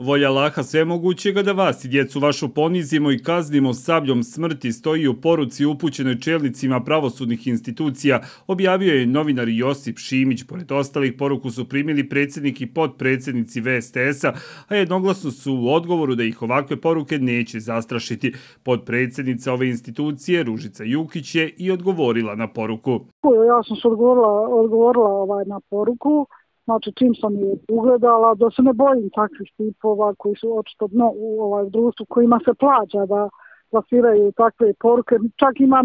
Volja Allaha svemogućega da vas i djecu vašu ponizimo i kaznimo sabljom smrti stoji u poruci upućenoj čelnicima pravosudnih institucija, objavio je novinar Josip Šimić. Pored ostalih, poruku su primili predsjednik i potpredsjednici VSTS-a, a jednoglasno su u odgovoru da ih ovakve poruke neće zastrašiti. Potpredsjednica ove institucije, Ružica Jukić, je i odgovorila na poruku. Ja sam se odgovorila na poruku. Znači, čim sam je ugledala, da se ne bojim takvih tipova koji su očito u društvu, kojima se plaća da plasiraju takve poruke. Čak ima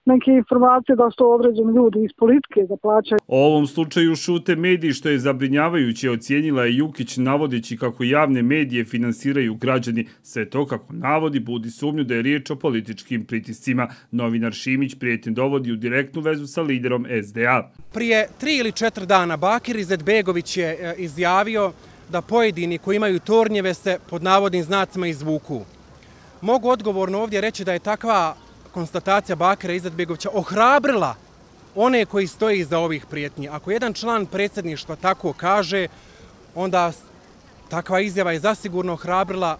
neke informacije da su to određeni ljudi iz politike da plaćaju. O ovom slučaju šute mediji, što je zabrinjavajuće, ocijenila je Jukić, navodeći kako javne medije finansiraju građani. Sve to, kako navodi, budi sumnju da je riječ o političkim pritiscima. Novinar Šimić prijetnje dovodi u direktnu vezu sa liderom SDA. Prije 3 ili 4 dana Bakir Izetbegović je izjavio da pojedini koji imaju tornjeve se pod navodnim znacima izvuku. Mogu odgovorno ovdje reći da je takva konstatacija Bakira Izetbegovića ohrabrila one koji stoje iza ovih prijetnji. Ako jedan član predsjedništva tako kaže, onda takva izjava je zasigurno ohrabrila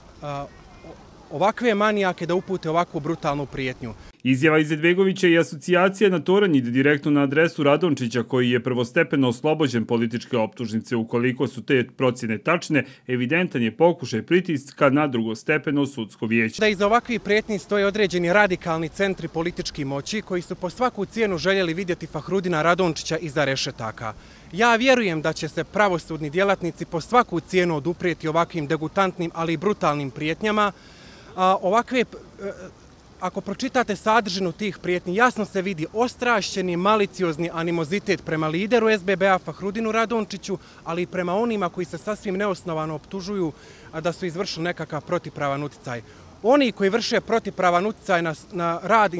ovakve manijake da upute ovakvu brutalnu prijetnju. Izjava Izetbegovića i asocijacija na tornj ide direktno na adresu Radončića, koji je prvostepeno oslobođen političke optužnice. Ukoliko su te procjene tačne, evidentan je pokušaj pritiska na drugostepeno sudsko vijeće. Da iza ovakvih prijetnji stoje određeni radikalni centri politički moći koji su po svaku cijenu željeli vidjeti Fahrudina Radončića iza rešetaka. Ja vjerujem da će se pravosudni djelatnici po svaku cijenu oduprijeti ovakvim degutantnim, ali i brutalnim prijetnjama. Ako pročitate sadržinu tih prijetnji, jasno se vidi ostrašćeni, maliciozni animozitet prema lideru SBB-a Fahrudinu Radončiću, ali i prema onima koji se sasvim neosnovano optužuju da su izvršili nekakav protipravan utjecaj. Oni koji vrše protipravan utjecaj na rad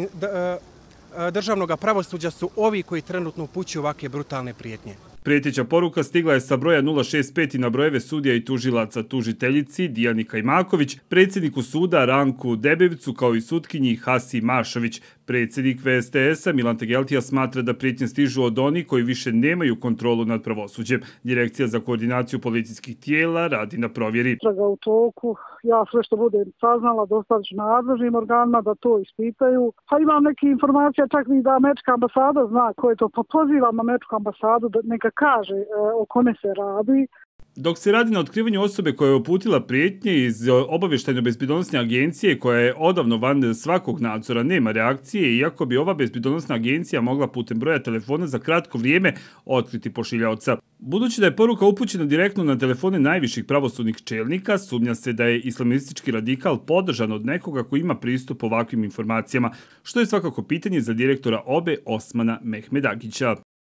državnog pravosuđa su ovi koji trenutno upućuju ovakve brutalne prijetnje. Prijeteća poruka stigla je sa broja 065 i na brojeve sudija i tužilaca tužiteljici Dijani Kajmaković, predsjedniku suda Ranku Debevcu, kao i sutkinji Hasi Mašović. Predsjednik VSTS-a Milan Tegeltija smatra da prijetnje stižu od onih koji više nemaju kontrolu nad pravosuđem. Direkcija za koordinaciju policijskih tijela radi na provjeri. Istraga u toku, ja sve što budem saznala dostavit ću nadležnim organima da to ispitaju. Pa imam neke informacije, čak i da američka ambasada zna ko je to. Pa pozivam američku ambasadu da neka kaže o kome se radi. Dok se radi na otkrivanju osobe koja je uputila prijetnje iz obavještajno-bezbjednosne agencije, koja je odavno van svakog nadzora, nema reakcije, iako bi ova bezbjednosna agencija mogla putem broja telefona za kratko vrijeme otkriti pošiljaoca. Budući da je poruka upućena direktno na telefone najviših pravosudnih čelnika, sumnja se da je islamistički radikal podržan od nekoga koji ima pristup ovakvim informacijama, što je svakako pitanje za direktora OBE Osmana Mehmedagića.